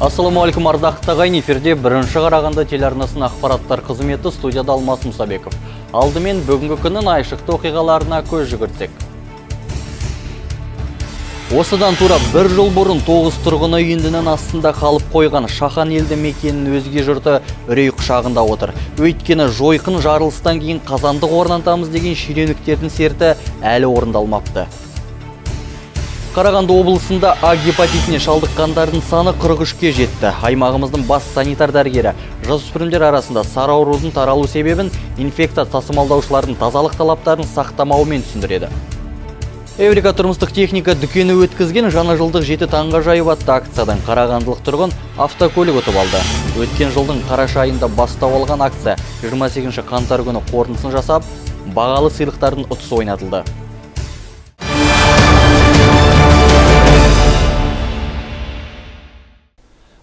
Ассаламуалейкум, ардақты ағайын, эфирде бірінші Қарағанды телеарнасының ақпараттар қызметі, студияда Алмас Мұсабеков. Алдымен бүгінгі күннің айшықты оқиғаларына көз жүгіртсек. Осыдан тура бір жыл бұрын 9 тұрғыны үйіндінің астында қалып қойған Шахан елді мекенінің өзге жұрты үрей құшағында отыр. Өйткені жойқын жарылыстан кейін қазандық орнатамыз деген шенеуніктердің серті әлі орындалмапты. Қарағанды облысында А гепатитіне шалдыққандардың саны 43-ке жетті. Аймағымыздың бас санитар дәрігері жасөспірімдер арасында сары аурудың таралу себебін инфекция тасымалдаушылардың тазалық талаптарын сақтамауымен түсіндіреді. Эврика тұрмыстық техника дүкені өткізген жаңа жылдық 7 таңға жайып атты акциядан қарағандылық тұрғын автокөлік ұтып алды. Өткен жылдың қараша айында бастау алған акция 28 қаңтар күні қорытындысын жасап, бағалы сыйлықтардың ұтысы ойнатылды.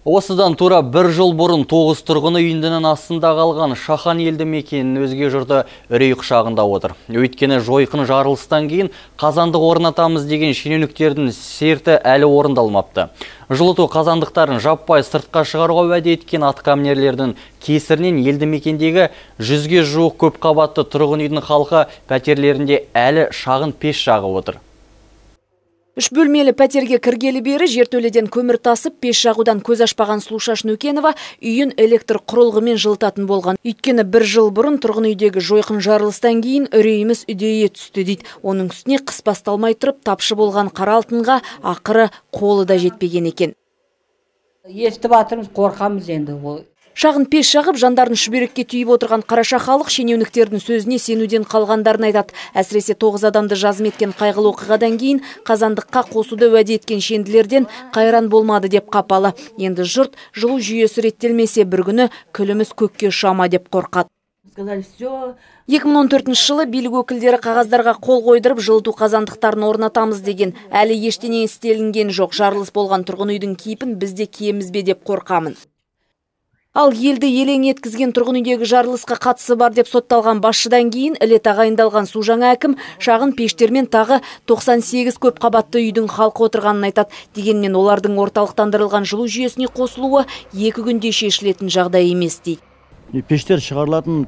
Осыдан тура бір жыл бұрын 9 тұрғыны үйіндінің астында қалған Шахан елді мекенінің өзге жұрты үрей құшағында отыр. Өйткені жойқын жарылыстан кейін қазандық орнатамыз деген шенеуніктердің серті әлі орындалмапты. Жылыту қазандықтарын жаппай сыртқа шығаруға уәде еткен атқамінерлердің кесірінен елді мекендегі 100-ге жуық көп қабатты тұрғын үйдің халқы пәтерлерінде әлі шағын пеш жағып отыр. 3 бөлмелі пәтерге кіргелі бері жертөледен көмір тасып, пеш жағудан көз ашпаған Сұлушаш Нүкенова үйін электр құрылғымен жылытатын болған. Өйткені бір жыл бұрын тұрғын үйдегі жойқын жарылыстан кейін үрейіміз үдейе түсті дейді. Оның үстіне қыс басталмай тұрып, тапшы болған қара алтынға ақыры қолы да жетпеген екен. Естіп атырмыз, қорқамыз енді ол. Шағын пеш жағып, жандарын шүберекке түйіп отырған қараша халық шенеуніктердің сөзіне сенуден қалғандарын айтады. Әсіресе 9 адамды жазым еткен қайғылы оқиғадан кейін қазандыққа қосуды уәде еткен шенділерден қайран болмады деп қапалы. Енді жұрт жылу жүйесі реттелмесе бір күні күліміз көкке ұшама деп қорқады. 2014 жылы билік өкілдері қағаздарға қол қойдырып жылыту қазандықтарын орнатамыз деген. Әлі ештеңе істелінген жоқ. Жарылыс болған тұрғын үйдің кейпін бізде киеміз бе деп қорқамын. Ал елді елең еткізген тұрғын үйдегі жарылысқа қатысы бар деп сотталған басшыдан кейін іле тағайындалған су жаңа әкім шағын пештермен тағы 98 көп қабатты үйдің халқы отырғанын айтады. Дегенмен олардың орталықтандырылған жылу жүйесіне қосылуы 2 күнде шешілетін жағдай емес дейді. Пештер шығарылатын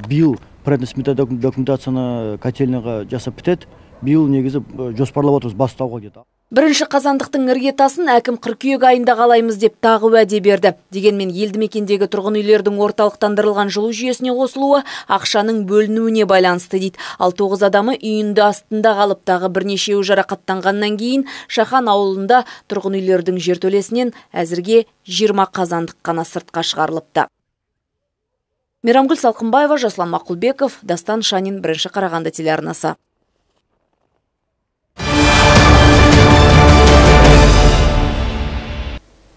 биыл преднасмета документацияны котельняға жасап бітеді. Биыл негізі жоспарлап отырмыз бастауға кетті. Бірінші қазандықтың іргетасын әкім қыркүйек айында қалаймыз деп тағы уәде берді. Дегенмен елді мекендегі тұрғын үйлердің орталықтандырылған жылу жүйесіне қосылуы ақшаның бөлінуіне байланысты дейді. Ал 9 адамы үйінді астында қалып, тағы бірнешеуі жарақаттанғаннан кейін Шахан ауылында тұрғын үйлердің жертөлесінен әзірге 20 қазандық қана сыртқа шығарылыпты. Мейрамгүл Салқынбаева, Жаслан Мақұлбеков, Дастан Шанин, бірінші Қарағанды телеарнасы.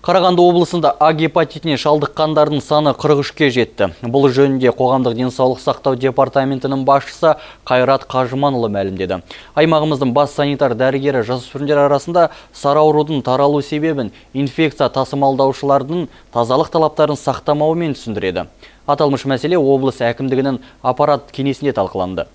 Қарағанды облысында А гепатитіне шалдыққандардың саны 43-ке жетті. Бұл жөнінде қоғамдық денсаулық сақтау департаментінің басшысы Қайрат Қажыманұлы мәлімдеді. Аймағымыздың бас санитар дәрігері жасөспірімдер арасында сары аурудың таралу себебін инфекция тасымалдаушылардың тазалық талаптарын сақтамауымен түсіндіреді. Аталмыш мәселе облыс әкімдігінің аппарат кеңесінде талқыланды.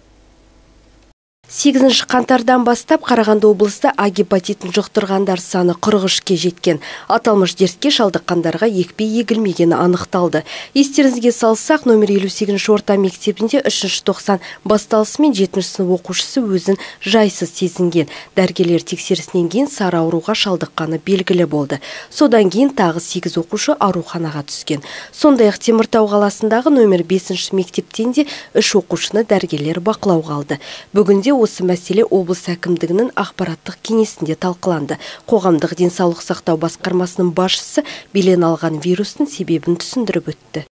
8 қаңтардан бастап Қарағанды облыста А гепатитін жұқтырғандар саны 43-ке жеткен. Аталмыш дертке шалдыққандарға екпе егілмегені анықталды. Естеріңізге салсақ, номер 58 орта мектебінде 3-ші тоқсан басталысымен 7-ші сынып оқушысы өзін жайсыз сезінген. Дәрігерлер тексерісінен кейін сары ауруға шалдыққаны белгілі болды. Содан кейін тағы 8 оқушы ауруханаға түскен. Сондай-ақ Теміртау қаласындағы номер 5-ші мектептен де 3 оқушыны дәрігерлер бақылауға алды. Бүгінде осы мәселе облыс әкімдігінің ақпараттық кеңесінде талқыланды. Қоғамдық денсаулық сақтау басқармасының басшысы белең алған вирустың себебін түсіндіріп өтті.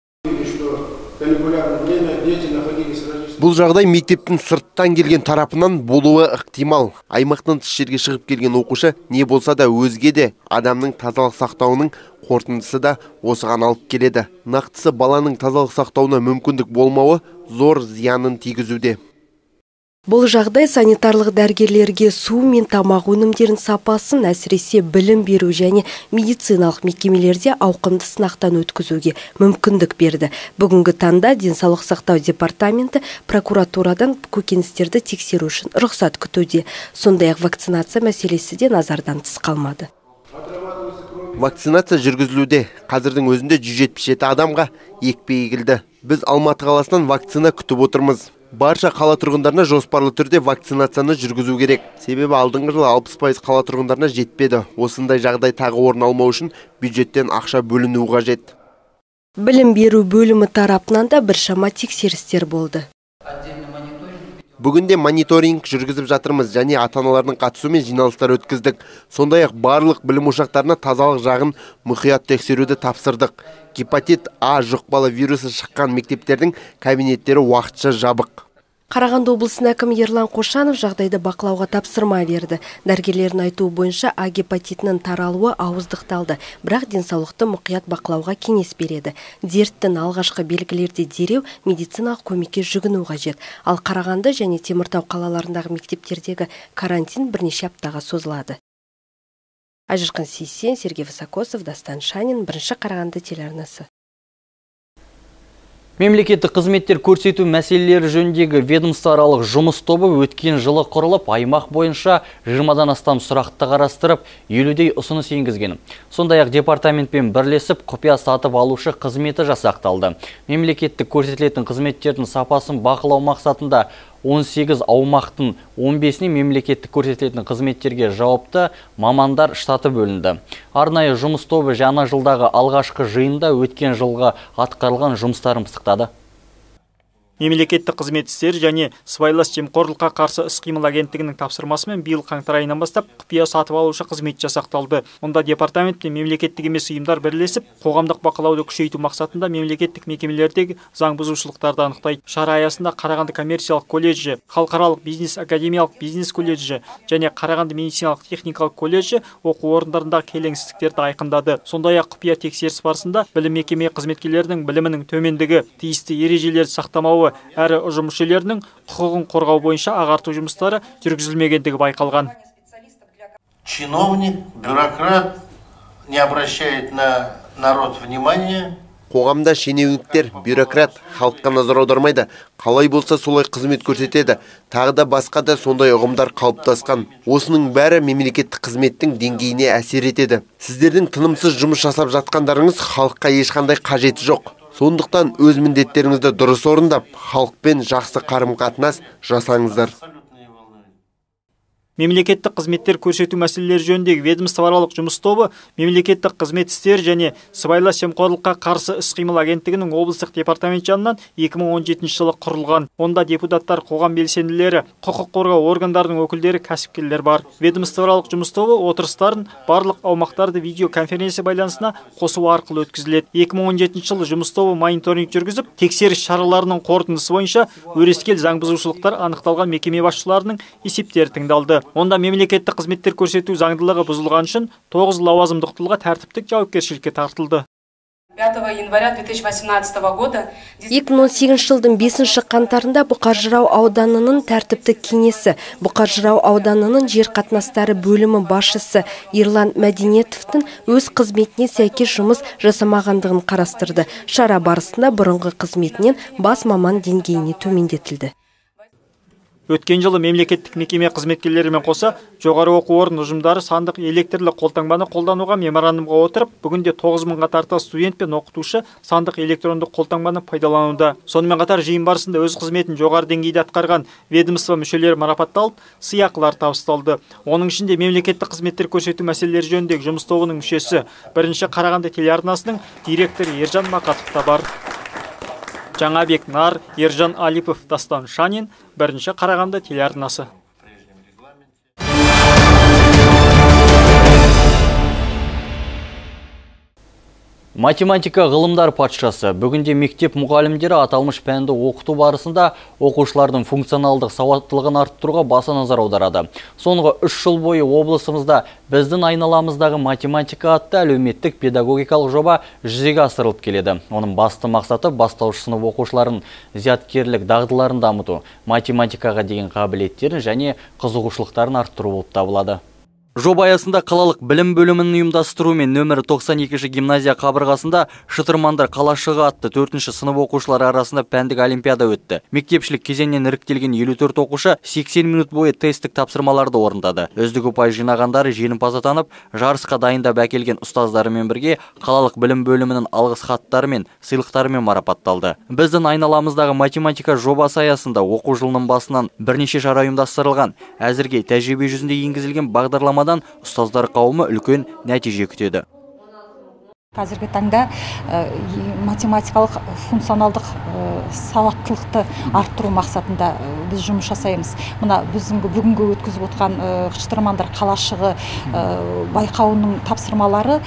Бұл жағдай мектептің сырттан келген тарапынан болуы ықтимал. Аймақтан тыс жерге шығып келген оқушы не болса да өзге де адамның тазалық сақтауының қорытындысы да осыған алып келеді. Нақтысы баланың тазалық сақтауына мүмкіндік болмауы зор зиянын тигізуде. Бұл жағдай санитарлық дәрігерлерге су мен тамақ өнімдерін сапасын, әсіресе білім беру және медициналық мекемелерде ауқымды сынақтан өткізуге мүмкіндік берді. Бүгінгі таңда денсаулық сақтау департаменті прокуратурадан көкөністерді тексеру үшін рұқсат күтуде. Сондай-ақ вакцинация мәселесі де назардан тыс қалмады. Вакцинация жүргізілуде. Қазірдің өзінде 177 адамға екпе егілді. Біз Алматы қаласынан вакцина күтіп отырмыз. Барша қала тұрғындарына жоспарлы түрде вакцинацияны жүргізу керек. Себебі алдыңғы жылы 60% қала тұрғындарына жетпеді. Осындай жағдай тағы орын алмау үшін бюджеттен ақша бөлінуі қажет. Білім беру бөлімі тарапынан да біршама тексерістер болды. Бүгінде мониторинг жүргізіп жатырмыз және ата-аналардың қатысуымен жиналыстар өткіздік. Сондай-ақ барлық білім ошақтарына тазалық жағын мұқият тексеруді тапсырдық. Гепатит А жұқпалы вирусы шыққан мектептердің кабинеттері уақытша жабық. Қарағанды облысының әкімі Ерлан Қошанов жағдайды бақылауға тапсырма берді. Дәрігерлердің айтуы бойынша А гепатитінің таралуы ауыздықталды, бірақ денсаулықты мұқият бақылауға кеңес береді. Дерттің алғашқы белгілерде дереу медициналық көмекке жүгіну қажет. Ал Қарағанды және Теміртау қалаларындағы мектептердегі карантин бірнеше аптаға созылады. Ажырқан Сейсен, Сергей Высокосов, Дастан Шанин, бірінші Қарағанды телеарнасы. Мемлекеттік қызметтер көрсету мәселелері жөніндегі ведомствоаралық жұмыс тобы өткен жылы құрылып, аймақ бойынша 20-дан астам сұрақты қарастырып, 50-дей ұсыныс енгізген. Сондай-ақ департаментпен бірлесіп, құпия сатып алушы қызметі жасақталды. Мемлекеттік көрсетілетін қызметтердің сапасын бақылау мақсатында 18 аумақтың 15-не мемлекеттік көрсетілетін қызметтерге жауапты мамандар штаты бөлінді. Арнайы жұмыс тобы жаңа жылдағы алғашқы жиында өткен жылға атқарылған жұмыстарын пысықтады. Мемлекеттік қызмет істері және сыбайлас жемқорлыққа қарсы іс-қимыл агенттігінің тапсырмасымен биыл қаңтар айынан бастап құпия сатып алушы қызмет жасақталды. Онда департамент пен мемлекеттік емес ұйымдар бірлесіп, қоғамдық бақылауды күшейту мақсатында мемлекеттік мекемелердегі заң бұзушылықтарды анықтайды. Шара аясында Қарағанды коммерциялық колледжі, халықаралық бизнес академиялық бизнес колледжі және Қарағанды медициналық техникалық колледжі оқу орындарындағы келеңсіздіктерді айқындады. Сондай-ақ құпия тексеріс барысында білім мекеме қызметкерлерінің білімінің төмендігі, тиісті ережелерді сақтамауы әрі ұжым мүшелерінің құқығын қорғау бойынша ағарту жұмыстары жүргізілмегендігі байқалған. Чиновник, бюрократ не обращает на народ внимания. Қоғамда шенеуніктер, бюрократ халыққа назар аудармайды. Қалай болса солай қызмет көрсетеді. Тағы да басқа да сондай ұғымдар қалыптасқан. Осының бәрі мемлекеттік қызметтің деңгейіне әсер етеді. Сіздердің тынымсыз жұмыс жасап жатқандарыңыз халыққа ешқандай қажеті жоқ. Сондықтан өз міндеттеріңізді дұрыс орындап, халықпен жақсы қарым-қатынас жасаңыздар. Мемлекеттік қызметтер көрсету мәселелері жөніндегі ведомствоаралық жұмыс тобы мемлекеттік қызмет істері және сыбайлас жемқорлыққа қарсы іс-қимыл агенттігінің облыстық департамент жанынан 2017 жылы құрылған. Онда депутаттар, қоғам белсенділері, құқық қорғау органдарының өкілдері, кәсіпкерлер бар. Ведомствоаралық жұмыс тобы отырыстарын барлық аумақтарды видеоконференция байланысына қосу арқылы өткізіледі. 2017 жылы жұмыс тобы мониторинг жүргізіп, тексеріс шараларының қорытындысы бойынша өрескел заң бұзушылықтар анықталған мекеме басшыларының есептері тыңдалды. Онда мемлекеттік қызметтер көрсету заңдылығы бұзылған үшін 9 лауазымдық тұлға тәртіптік жауапкершілікке тартылды. 5 января 2018 года 2018 жылдың 5 қаңтарында Бұқар-Жырау ауданының тәртіптік кеңесі, Бұқар-Жырау ауданының жер қатынастары бөлімі басшысы Ерлан Мәдениетовтің өз қызметіне сәйкес жұмыс жасамағандығын қарастырды. Шара барысында бұрынғы қызметінен бас маман деңгейіне төмендетілді. Өткен жылы мемлекеттік мекеме қызметкерлерімен қоса жоғары оқу орын ұжымдары сандық электрлі қолтаңбаны қолдануға меморандумға отырып, бүгінде 9000-ға тарта студент пен оқытушы сандық электрондық қолтаңбаны пайдалануда. Сонымен қатар жиын барысында өз қызметін жоғары деңгейде атқарған ведомство мүшелері марапатталып, сыйақылар табысталды. Оның ішінде мемлекеттік қызметтер көрсету мәселелері жөніндегі жұмыс тобының мүшесі, бірінші Қарағанды телеарнасының директоры Ержан Мақатов та бар. Жаңабек Нар, Ержан Алипов, Дастан Шанин, бірінші Қарағанды телеарнасы. Математика ғылымдар патшасы. Бүгінде мектеп мұғалімдері аталмыш пәнді оқыту барысында оқушылардың функционалдық сауаттылығын арттыруға баса назар аударады. Соңғы 3 жыл бойы облысымызда біздің айналамыздағы математика атты әлеуметтік педагогикалық жоба жүзеге асырылып келеді. Оның басты мақсаты бастауыш сынып оқушыларын зияткерлік дағдыларын дамыту, математикаға деген қабілеттерін және қызығушылықтарын арттыру болып табылады. Жоба аясында қалалық білім бөлімінің ұйымдастыруымен нөмірі 92-ші гимназия қабырғасында шытырмандар қалашығы атты 4-ші сынып оқушылары арасында пәндік олимпиада өтті. Мектепшілік кезеңнен іріктелген 54 оқушы 80 минут бойы тесттік тапсырмаларды орындады. Үздік ұпай жинағандары жеңімпаз атанып, жарысқа дайындап әкелген ұстаздарымен бірге қалалық білім бөлімінің алғыс хаттары мен сыйлықтарымен марапатталды. Біздің айналамыздағы математика жобасы аясында оқу жылының басынан бірнеше шара ұйымдастырылған. Әзірге тәжірибе жүзінде енгізілген бағдарлама ұстаздар қауымы үлкен нәтиже күтеді. Қазіргі таңда математикалық функционалдық сауаттылықты арттыру мақсатында біз жұмыс жасаймыз. Мына біздің бүгінгі өткізіп отқан шытырмандар қалашығы байқауының тапсырмалары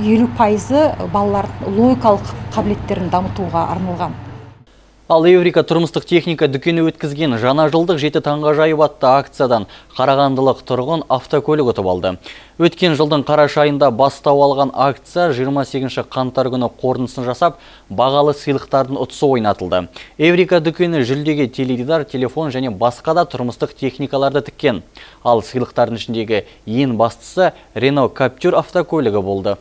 50% балалардың логикалық қабілеттерін дамытуға арналған. Ал Эврика тұрмыстық техника дүкені өткізген жаңа жылдық 7 таңғажайып атты акциядан қарағандылық тұрғын автокөлік ұтып алды. Өткен жылдың қараша айында бастау алған акция 28 қаңтар күні қорытындысын жасап, бағалы сыйлықтардың ұтысы ойнатылды. Эврика дүкені жүлдеге теледидар, телефон және басқа да тұрмыстық техникаларды тіккен. Ал сыйлықтардың ішіндегі ең бастысы Renault Captur автокөлігі болды.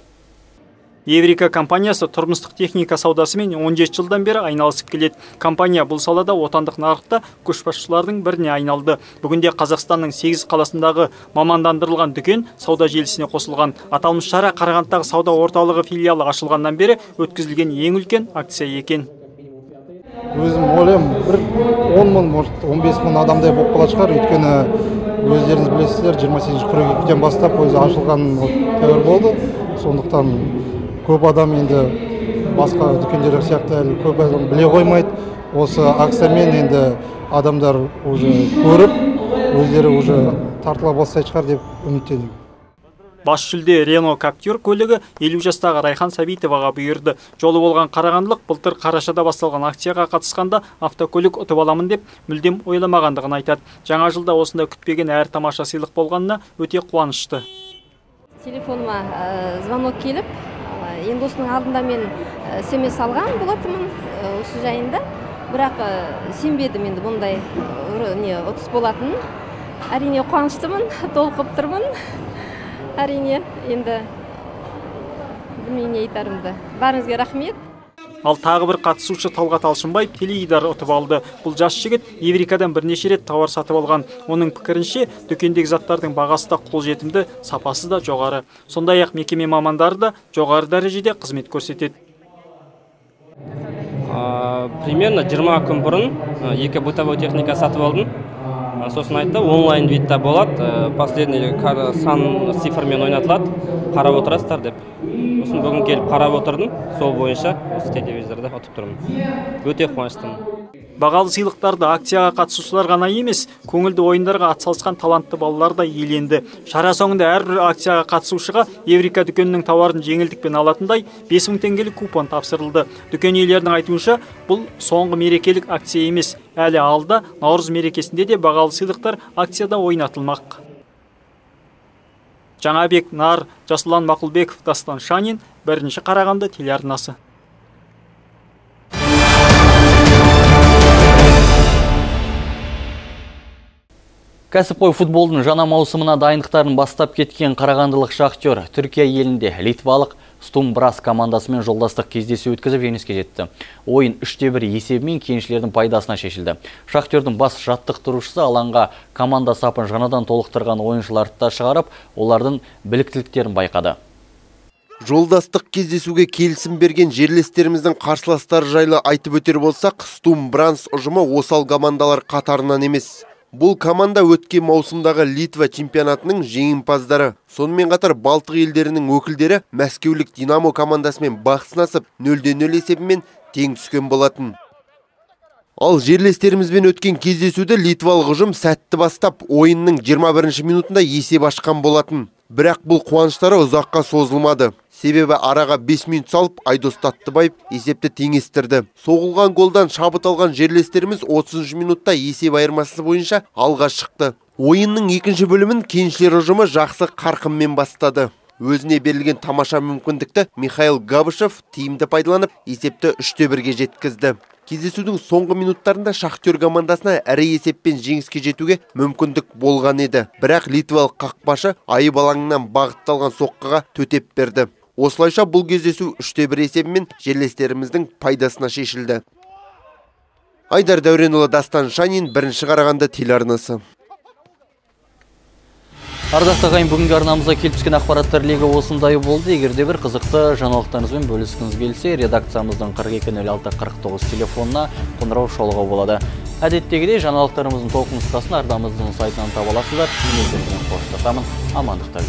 Эврика компаниясы тұрмыстық техника саудасымен 17 жылдан бері айналысып келеді. Компания бұл салада отандық нарықта көшбасшылардың біріне айналды. Бүгінде Қазақстанның 8 қаласындағы мамандандырылған дүкен сауда желісіне қосылған. Аталмыш шара Қарағандыдағы сауда орталығы филиалы ашылғаннан бері өткізілген ең үлкен акция екен. Өзім ойлаймын, 10 мың, может 15 мың адамдай болып қала шығар, өйткені өздеріңіз білесіздер, 28 қыркүйектен бастап өзі ашылған тәуір болды. Сондықтан көп адам енді басқа дүкендер сияқты әлі көп адам біле қоймайды. Осы акциямен енді адамдар уже көріп, өздері уже тартыла бастайды шығар деп үміттенемін. Бас жүлде Renault Captur көлігі 50 жастағы Райхан Сәбитоваға бұйырды. Жолы болған қарағандылық былтыр қарашада басталған акцияға қатысқанда автокөлік ұтып аламын деп мүлдем ойламағандығын айтады. Жаңа жылда осында күтпеген әр тамаша сыйлық болғанына өте қуанышты. Телефоныма звонок келіп, енді осының алдында мен смс алған болатынмын осы жайында, бірақ сенбедім енді бұндай ұтыс болатынын. Әрине қуаныштымын, толқып тұрмын. Әрине, енді білмеймін не айтарымды. Барыңызға рахмет. Ал тағы бір қатысушы Талғат Алшынбаев теледидар ұтып алды. Бұл жас жігіт Эврикадан бірнеше рет тауар сатып алған. Оның пікірінше, дүкендегі заттардың бағасы да қолжетімді, сапасы да жоғары. Сондай-ақ мекеме мамандары да жоғары дәрежеде қызмет көрсетеді. Примерно 20 күн бұрын 2 бытовой техника сатып алдым. Сосын айтты, онлайн видта болады, последний сан цифрмен ойнатылады, қарап отырасыздар деп. Сосын бүгін келіп қарап отырдым, сол бойынша осы телевизорда ұтып тұрмын. Өте қуаныштымын. Бағалы сыйлықтарды акцияға қатысушылар ғана емес, көңілді ойындарға атсалысқан талантты балалар да иеленді. Шара соңында әрбір акцияға қатысушыға Эврика дүкенінің тауарын жеңілдікпен алатындай 5000 теңгелік купон тапсырылды. Дүкен иелерінің айтуынша, бұл соңғы мерекелік акция емес. Әлі алда Наурыз мерекесінде де бағалы сыйлықтар акцияда ойнатылмақ. Жаңабек Нар, Жасұлан Мақұлбеков, Дастан Шанин, 1-ші Қарағанды телеарнасы. Кәсіпқой футболдың жаңа маусымына дайындықтарын бастап кеткен қарағандылық Шахтер Түркия елінде литвалық Стум Брас командасымен жолдастық кездесу өткізіп жеңіске жетті. Ойын 3-1 есебімен кеншілердің пайдасына шешілді. Шахтердің бас жаттықтырушысы алаңға команда сапын жаңадан толықтырған ойыншыларды да шығарып, олардың біліктіліктерін байқады. Жолдастық кездесуге келісім берген жерлестеріміздің қарсыластары жайлы айтып өтер болсақ, Стум Бранс ұжымы осал командалар қатарынан емес. Бұл команда өткен маусымдағы Литва чемпионатының жеңімпаздары. Сонымен қатар Балтық елдерінің өкілдері Мәскеулік Динамо командасымен бақ сынасып 0-0 есебімен тең түскен болатын. Ал жерлестерімізбен өткен кездесуді литвалық ұжым сәтті бастап, ойынның 21-ші минутында есеп ашқан болатын. Бірақ бұл қуаныштары ұзаққа созылмады. Себебі араға 5 минут салып, Айдос Таттыбаев есепті теңестірді. Соғылған голдан шабыт алған жерлестеріміз 30 минутта есеп айырмасы бойынша алға шықты. Ойынның екінші бөлімін кеншілер ұжымы жақсы қарқынмен бастады. Өзіне берілген тамаша мүмкіндікті Михаил Габышев тиімді пайдаланып, есепті 3-1-ге жеткізді. Кездесудің соңғы минуттарында Шахтер командасына ірі есеппен жеңіске жетуге мүмкіндік болған еді. Бірақ литвалық қақпашы айып алаңынан бағытталған соққыға төтеп берді. Осылайша бұл кездесу 3-1 есебімен жерлестеріміздің пайдасына шешілді. Айдар Дәуренұлы, Дастан Шанин, Бірінші Қарағанды телеарнасы. Ардақты ағайын, бүгінгі арнамызға келіп түскен ақпараттар легі осындай болды. Егерде бір қызықты жаңалықтарыңызбен бөліскіңіз келсе, редакциямыздың 4206-49 телефонына қоңырау шалуға болады. Әдеттегідей жаңалықтарымыздың толық нұсқасын арнамыздың сайтынан таба аласыздар. Мен қоштасамын. Амандықта